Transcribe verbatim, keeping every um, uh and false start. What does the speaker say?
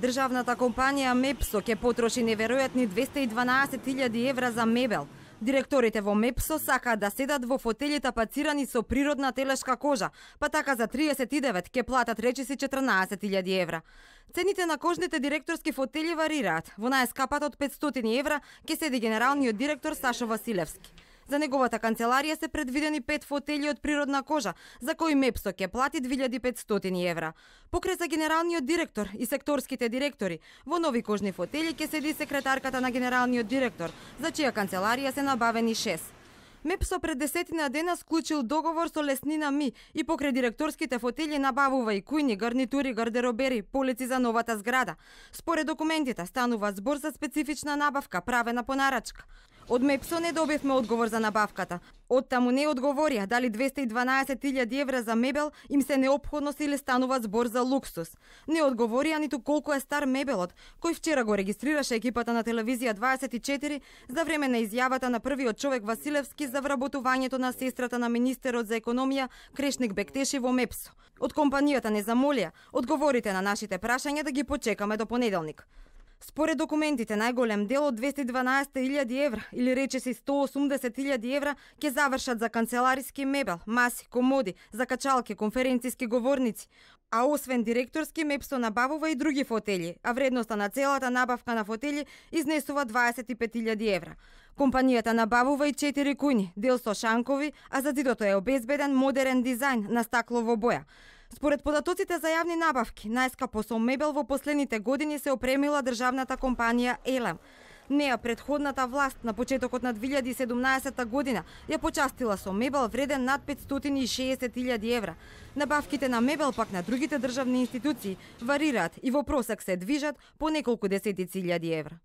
Државната компанија Мепсо ќе потроши неверојатни двесте и дванаесет илјади евра за мебел. Директорите во Мепсо сакаат да седат во фотели тапацирани со природна телешка кожа, па така за триесет и девет ќе платат речиси четрнаесет илјади евра. Цените на кожните директорски фотели варираат. Во најскапата од петстотини евра ќе седи генералниот директор Сашо Василевски. За неговата канцеларија се предвидени пет фотели од природна кожа, за кои Мепсо ќе плати две илјади и петстотини евра. Покрај за генералниот директор и секторските директори, во нови кожни фотели ќе седи секретарката на генералниот директор, за чија канцеларија се набавени шест. Мепсо пред десетина дена склучил договор со Леснина Ми и покрај директорските фотели набавува и кујни, гарнитури, гардеробери, полици за новата зграда. Според документите станува збор за специфична набавка, правена по нарачка. Од Мепсо не добивме одговор за набавката. Оттаму не одговорија дали двесте и дванаесет илјади евра за мебел им се неопходност или станува збор за луксус. Не одговорија ниту колку е стар мебелот, кој вчера го регистрираше екипата на телевизија дваесет и четири за време на изјавата на првиот човек Василевски за вработувањето на сестрата на министерот за економија Крешник Бектеши во Мепсо. Од компанијата не замолија одговорите на нашите прашања да ги почекаме до понеделник. Според документите, најголем дел од двесте и дванаесет илјади евра, или речиси сто осумдесет илјади евра, ќе завршат за канцелариски мебел, маси, комоди, закачалки, конференциски говорници. А освен директорски, Мепсо набавува и други фотели, а вредноста на целата набавка на фотели изнесува дваесет и пет илјади евра. Компанијата набавува и четири кујни, дел со шанкови, а за зидото е обезбеден модерен дизајн на стаклово боја. Според податоците за јавни набавки, најскапо со мебел во последните години се опремила државната компанија Елем. Неа претходната власт на почетокот на две илјади и седумнаесета година ја почастила со мебел вреден над петстотини и шеесет илјади евра. Набавките на мебел пак на другите државни институции варираат и во просек се движат по неколку десетици илјади евра.